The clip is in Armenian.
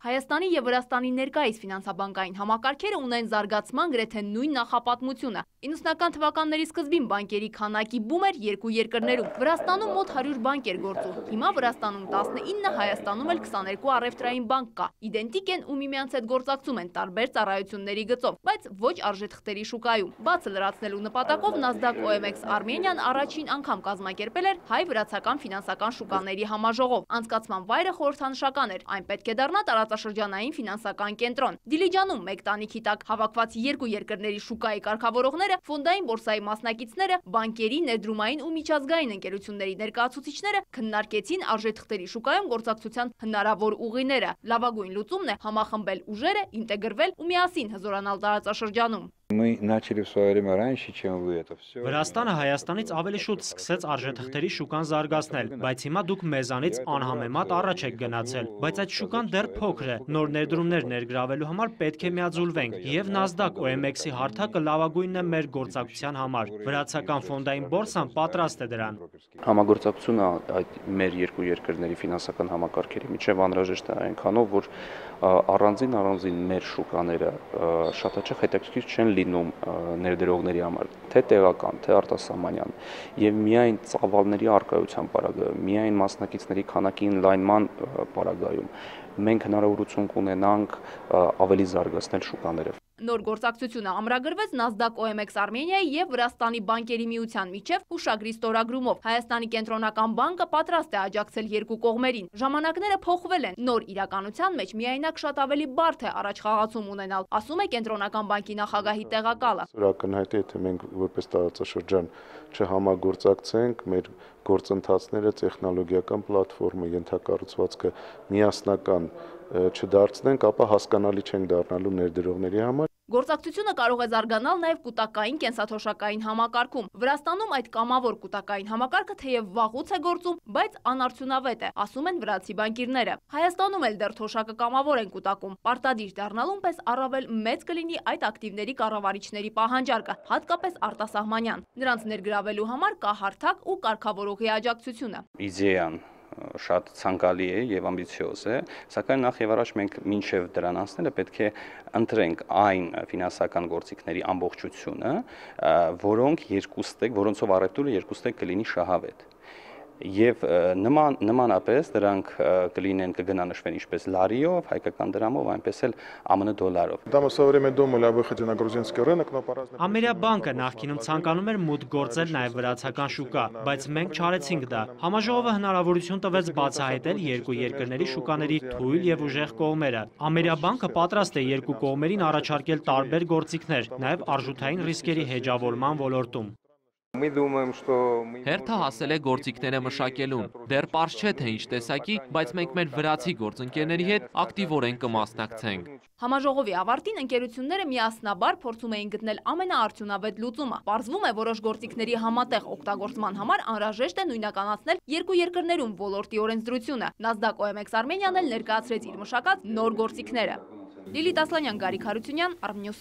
Հայաստանի և Վրաստանի ներկայիս ֆինանսաբանկային համակարգերը ունեն զարգացման գրեթե նույն նախապատմությունը։ 90-ական թվականների սկզբին բանկերի քանակի բում էր երկու երկրներում։ Վրաստանում մոտ 100 բանկ էր գործում։ Հիմա Վրաստանում 19, Հայաստանում էլ 22 առևտրային բանկ կա։ Իդենտիկ են ու միմյանց հետ գործակցում են տարբեր ծառայությունների գծով, բայց ոչ արժեթղթերի շուկայում։ Բացը լրացնելու նպատակով Nasdaq OMX Armenian առաջին անգամ կազմակերպել էր հայ-վրացական ֆինանսական շուկաների համաժողով։ Անցկացման վայրը խորհրդանշական էր, այն պետք է դառնա տարածաշրջանային ֆինանսական կենտրոն։ Դիլիջանում մեկ տանիքի տակ հավաքված երկու երկրների շուկայի կարգավորողները, ֆոնդային բորսայի մասնակիցները, բանկերի, ներդրումային ու միջազգային ընկերությունների ներկայացուցիչները քննարկեցին արժեթղթերի շուկայում գործակցության հնարավոր ուղիները։ Լավագույն լուծումն է համախմբել ուժերը, ինտեգրվել ու միասին հզորանալ տարածաշրջանում։ Мы начали в свое время раньше, чем вы это все. Վրաստանը Հայաստանից ավելի շուտ սկսեց արժեթղթերի շուկան զարգացնել, բայց հիմա դուք մեզանից անհամեմատ առաջ եք գնացել, բայց այդ շուկան դեռ փոքր է, նոր ներդրումներ ներգրավելու համար պետք է միաձուլվենք, եւ Nasdaq OMX-ի հարթակը լավագույնն է մեր գործակցության համար։ Վրացական ֆոնդային բորսան պատրաստ է դրան։ Համագործակցությունը այդ մեր երկու երկրների ֆինանսական համակարգերի միջև անհրաժեշտ է այնքանով, որ առանձին մեր շուկաները շատ հաճախ հետաքրքիր չեն լինում ներդրողների համար, թե տեղական, թե արտասահմանյան, եւ միայն ծավալների առկայության պարագայում, միայն մասնակիցների քանակի ընդլայնման պարագայում մենք հնարավորություն կունենանք ավելի զարգացնել շուկաները։ Նոր գործակցությունը ամրագրվեց Nasdaq OMX Armenia-ի և Վրաստանի բանկերի միության միջև հուշագրի ստորագրումով։ Հայաստանի կենտրոնական բանկը պատրաստ է աջակցել երկու կողմերին։ Ժամանակները փոխվել են, նոր իրականության մեջ միայնակ շատ ավելի բարդ է առաջխաղացում ունենալ, ասում է կենտրոնական բանկի նախագահի տեղակալը։ Ակնհայտ է, եթե մենք որպես տարածաշրջան չհամագործակցենք, մեր գործընթացները, տեխնոլոգիական պլատֆորմը, ենթակառուցվածքը միասնական չդարձնենք, ապա հասկանալի չենք դառնալու ներդրողների համար։ Գործակցությունը կարող է զարգանալ նաև կուտակային կենսաթոշակային համակարգում։ Վրաստանում այդ կամավոր կուտակային համակարգը թեև վաղուց է գործում, բայց անարդյունավետ է, ասում են վրացի բանկիրները։ Հայաստանում էլ դեռ թոշակը կամավոր են կուտակում։ Պարտադիր դառնալուն պես առավել մեծ կլինի այդ ակտիվների կառավարիչների պահանջարկը, հատկապես արտասահմանյան։ Նրանց ներգրավելու համար կա հարթակ ու կարգավորողի աջակցությունը։ Իդեան շատ ցանկալի է եւ ամբիցիոզ է, սակայն նախ եւ առաջ մենք մինչեւ դրան անցնելը պետք է ընտրենք այն ֆինանսական գործիքների ամբողջությունը, որոնցով առևտուրը երկուստեք կլինի շահավետ։ Եվ նմանապես դրանք կգնանշվեն ինչպես լարիով, հայկական դրամով, այնպես էլ ԱՄՆ դոլարով։ Ամերիկա բանկը նախկինում ցանկանում էր մուտք գործել նաև վրացական շուկա, բայց մենք չարեցինք դա։ Համաժողովը հնարավորություն տվեց բացահայտել երկու երկրների շուկաների թույլ եւ ուժեղ կողմերը։ Ամերիկա բանկը պատրաստ է երկու կողմերին առաջարկել տարբեր գործիքներ, նաև արժութային ռիսկերի հեջավորման ոլորտում։ Հերթը հասել է գործիքները մշակելուն։ Դեռ պարզ չէ, թե ինչ տեսակի, բայց մենք մեր վրացի գործընկերների հետ ակտիվորեն կմասնակցենք։ Համաժողովի ավարտին ընկերությունները միասնաբար փորձում էին գտնել ամենաարդյունավետ լուծումը։ Պարզվում է, որոշ գործիքների համատեղ օգտագործման համար անհրաժեշտ է նույնականացնել երկու երկրներում ոլորտի օրենսդրությունը։ Nasdaq OMX Armenian-ն էլ ներկայացրեց իր մշակած նոր գործիքները։ Լիլիթ Ասլանյան, Գարիկ Հարությունյան, Armnews։